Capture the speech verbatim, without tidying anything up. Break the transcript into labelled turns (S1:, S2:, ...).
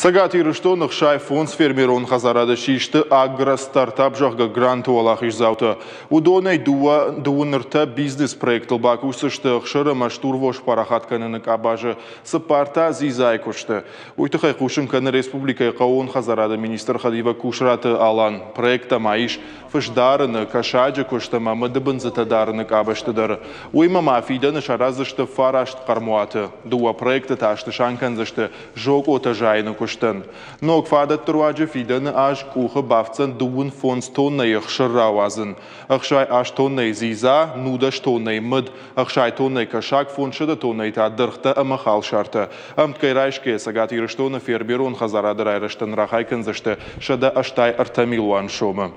S1: Цӕгат Ирыстоны ӕхсай фондз фермерон хӕдзарады систы агростартап, зӕгъгӕ, гранты уӕлахиздзаутӕ. Уыдонӕй дыууӕ дыууын ӕртӕ бизнес-проектыл бакусдзысты ӕхсыр ӕмӕ стурвос парахат кӕныны къабазы, цыппар та дзидзайы куысты. Уый тыххӕй хъусын кӕны республикӕйы хъӕууон хӕдзарады министры хӕдивӕг Кусраты Алан. Проекттӕ ма ис фыс дарыны, кӕсаджы куыст ӕмӕ мыдыбындзытӕ дарыны къабӕзты дӕр. Уыимӕ ма фидӕны сараздзысты фараст хъӕрмуаты. Дыууӕ проекты та снысан кӕндзысты зокъотӕ зайыны куыстӕн. Ног фадӕтты руаджы фидӕны аз къухы бафтдзӕн дыууын фондз тоннӕйы ӕхсыр рауадзын, ӕхсай аст тоннӕйы дзидза, нудӕс тоннӕйы мыд, ӕхсай тоннӕйы кӕсаг, фондзсӕдӕ тоннӕйы та дыргътӕ ӕмӕ халсартӕ. Ӕмткӕй райсгӕйӕ Цӕгат Ирыстоны фермерон хӕдзарады райрӕзтӕн рахай кӕндзысты сӕдӕ ӕстай ӕртӕ милуан сомы.